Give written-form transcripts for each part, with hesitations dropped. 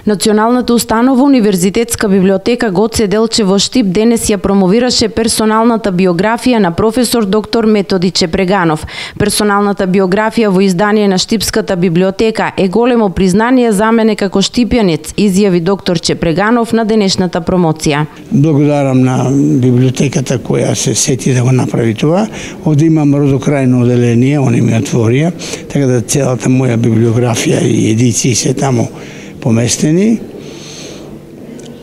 Националната установа Универзитетска библиотека Гоце Делчев во Штип денес ја промовираше персоналната биографија на професор доктор Методи Чепреганов. Персоналната биографија во издание на Штипската библиотека е големо признание за мене како штипјанец, изјави доктор Чепреганов на денешната промоција. Благодарам на библиотеката која се сети да го направи това. Овде имам родокрајно оделение, они ми отворија, така да целата моја библиографија и едиции се таму поместени.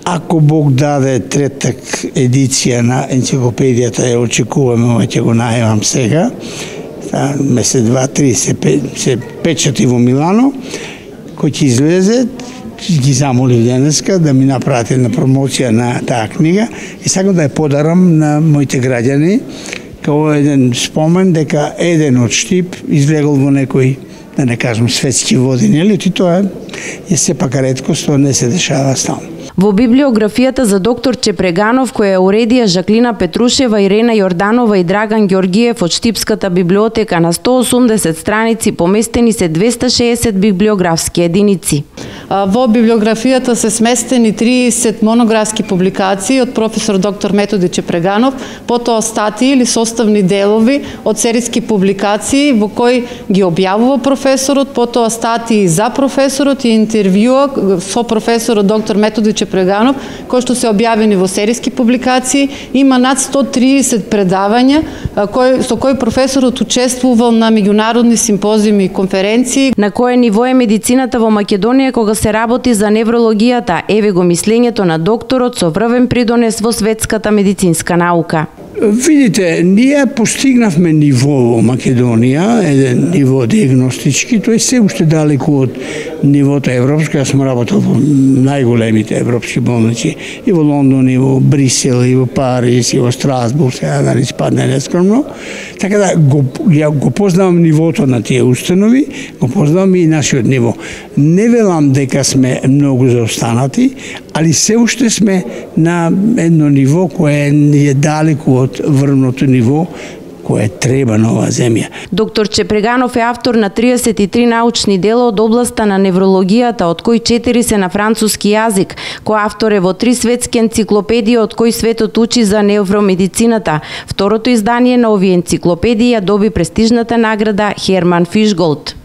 Ако Бог даде третак едиција на енциклопедијата, ја очекуваме, ќе го најавам сега. Месец, два, три се печати во Милано, кој ќе излезе, ги замолив денеска да ми направат една промоција на таа книга и сакам да ја подарам на моите граѓани како еден спомен дека еден од Штип излегол во некој, да не кажам, светски води, нели? И тоа е сепак реткост, тоа не се дешава стално. Во библиографијата за доктор Чепреганов, која уредија Жаклина Петрушева, Ирена Јорданова и Драган Ѓоргиев од Штипската библиотека, на 180 страници поместени се 260 библиографски единици. Во библиографијата се сместени 30 монографски публикации од професор доктор Методи Чепреганов, потоа статии или составни делови од серијски публикации во кои ги објавува професорот, потоа статии за професорот и интервјуа со професорот доктор Методи Чепреганов, кои што се објавени во серијски публикации. Има над 130 предавања со кои професорот учествувал на меѓународни симпозиуми и конференции. На кое ниво е медицината во Македонија кога се работи за неврологијата? Еве го мислењето на докторот со врвен придонес во светската медицинска наука. Видите, ние постигнавме ниво во Македонија, еден ниво диагностички, тој се уште далеку од нивото европско. Јас сум работел во најголемите европски болници и во Лондон, и во Брисел, и во Париз, и во Страсбург, сега да не спадне нескромно. Така да го познавам нивото на тие установи, го познавам и нашиот ниво. Не велам дека сме многу заостанати, али се уште сме на едно ниво кое е далеку од врвното ниво кое треба на оваа земја. Доктор Чепреганов е автор на 33 научни дела од областа на неврологијата, од кои 4 се на француски јазик. Кој автор е во 3 светски енциклопедии, од кои светот учи за невромедицината. Второто издание на овие енциклопедии ја доби престижната награда Херман Фишголт.